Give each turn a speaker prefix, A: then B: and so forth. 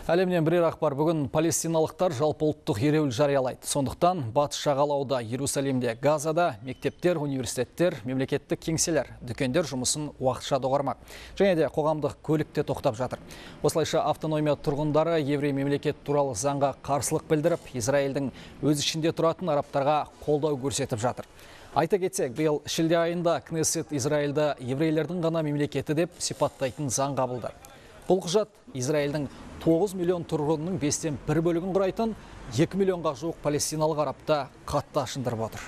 A: Әлемнен бірер ақпар. Бүгін палестиналықтар жалпы ұлттық ереуіл жариялайды. Сондықтан батыс жағалауда, Иерусалимде, Газада мектептер, университеттер, мемлекеттік кеңселер, дүкендер жұмысын уақытша доғармақ. Және де қоғамдық көлікте тоқтап жатыр. Осылайша автономия тұрғындары еврей мемлекет туралы заңға қарсылық білдіріп, Израильдің өз ішінде тұратын арабтарға қолдау көрсетіп жатыр. Айта кетсек, биыл шілде айында Кнессет Израильді еврейлердің ғана мемлекеті деп сипаттайтын заң қабылдады. Бұл құжат Израильдің 9 миллион тұрғынының 5-тен 1 бөлігін құрайтын 2 миллионға жуық палестиналық арабта қатты ашындырып отыр.